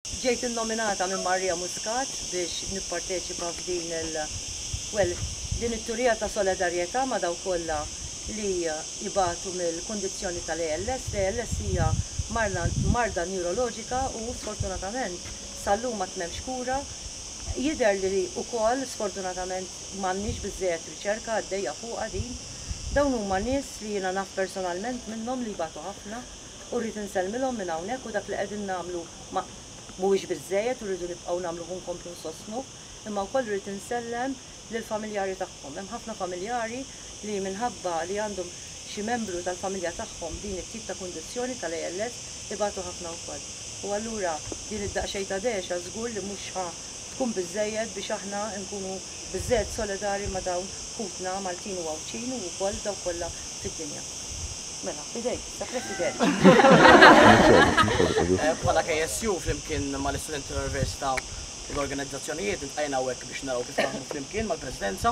Ġejt innominata minn Maria Muscat biex nipparteċipa f'din il, well, din it-turija ta' solidarjetà ma' dawk kollha li jbatu mill-kundizzjoni tal-ALS. L-ALS hija marda newroloġika u sfortunatament sal-lum għad m'hemmx kura. Jidher li wkoll sfortunatament m'għandniex biżżejjed riċerka għaddejja fuqha din. Dawn huma nies li jiena naf personalment minnhom li jbatu ħafna u rrid insellmilhom minn hawnhekk u dak li qegħdin nagħmlu ma mhuwiex biżżejjed u rridu nibqgħu nagħmluh u nkomplu nsostnuh, imma wkoll irrid insellem lill-familjari tagħhom. Hemm ħafna familjari li minħabba li għandhom xi membru tal-familja tagħhom b'din it-tip ta' kundizzjoni tal-ALS ibatu ħafna wkoll. U allura din id-daqsxejn ta' dehxa żgur li mhux ħa tkun biżżejjed biex aħna nkunu biżżejjed solidari ma' dawn ħutna Maltin u Għawdxin u wkoll dawk kollha fid-dinja. Mela, f'idejk issa President. Bħala KSU flimkien mal-istudenti tal-Università u l-organizzazzjonijiet iltqajna hawnhekk biex naraw kif naħdmu flimkien mal-Presidenza u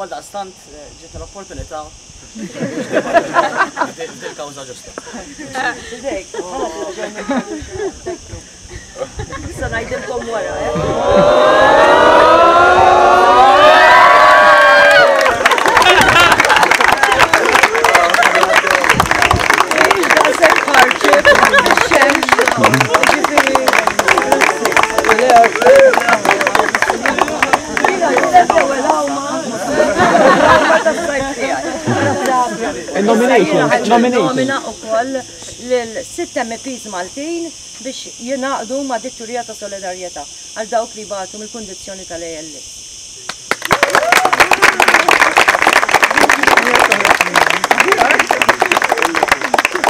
għaldaqstant ġietna l-opportunità biex nipparteċipaw f'dil-kawża ġusta. F'idejk, Issa ngħidilkom wara, eh? Nomination, nomination. Nomina u koll lil-sitt MEPs Maltin biex jingħaqdu ma' dit-turija ta' solidarjetà għal dawk li jbatu mill-kundizzjoni tal-ALS.